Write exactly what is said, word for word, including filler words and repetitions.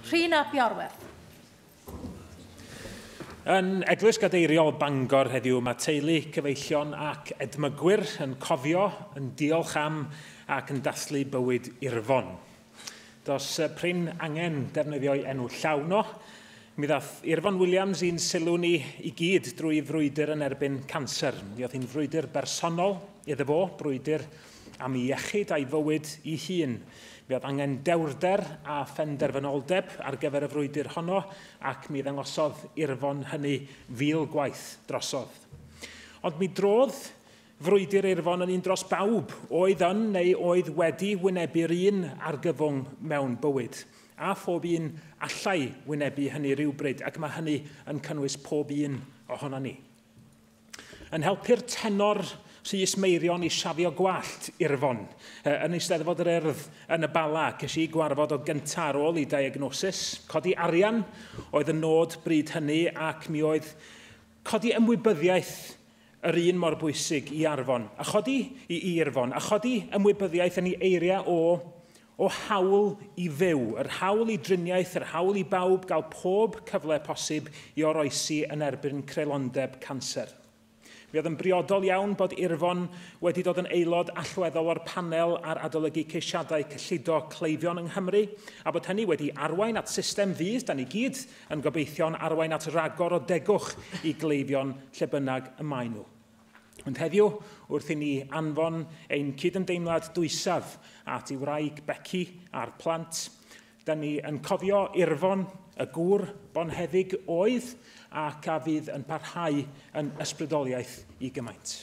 Rhun ap Iorwerth. Yn Eglwys Gadeiriol Bangor heddiw, mae teulu, cyfeillion ac edmygwyr yn cofio, yn diolch am ac yn dathlu bywyd Irfon. Does prin angen defnyddio'i enw llawn o. Mi ddath Irfon Williams i'n sylw ni i gyd drwy frwydr yn erbyn canser. Mi oedd hi'n frwydr bersonol iddo fo, brwydr am ei iechyd a'i fywyd ei hun. Mi oedd angen dewrder a phenderfynoldeb ar gyfer y frwydr honno, ac mi ddangosodd Irfon hynny fil gwaith drosodd. Ond mi drodd frwydr Irfon yn un dros bawb oedd yn neu oedd wedi wynebu'r un argyfwng mewn bywyd. A phob un allai wynebu hynny rhywbryd, ac mae hynny yn cynnwys pob un ohono ni. Yn helpu'r tenor Rhys Meirion i siafio gwallt Irfon yn Eisteddfod yr Urdd yn y Bala, ces i gwarfod o gyntaf ar ôl i diagnosis. Codi arian oedd y nod bryd hynny, ac mi oedd codi ymwybyddiaeth yr un mor bwysig i Arfon, a chodi i Irfon, a chodi ymwybyddiaeth yn ei eiriau o o hawl i fyw, yr hawl i driniaeth, yr hawl i bawb gael pob cyfle posib i oroesi yn erbyn creulondeb canser. Mi oedd yn briodol iawn bod Irfon wedi dod yn aelod allweddol o'r panel ar adolygu ceisiadau cyllido cleifion yng Nghymru, a bod hynny wedi arwain at system fydd, da ni gyd yn gobeithio'n arwain at ragor o degwch i gleifion lle bynnag y maen nhw. Ond heddiw, wrth i ni anfon ein cydymdeimlad dwysaf at ei wraig Becky a'r plant, da ni yn cofio Irfon, y gŵr bonheddig oedd, ac a fydd yn parhau yn ysbrydoliaeth i gymaint.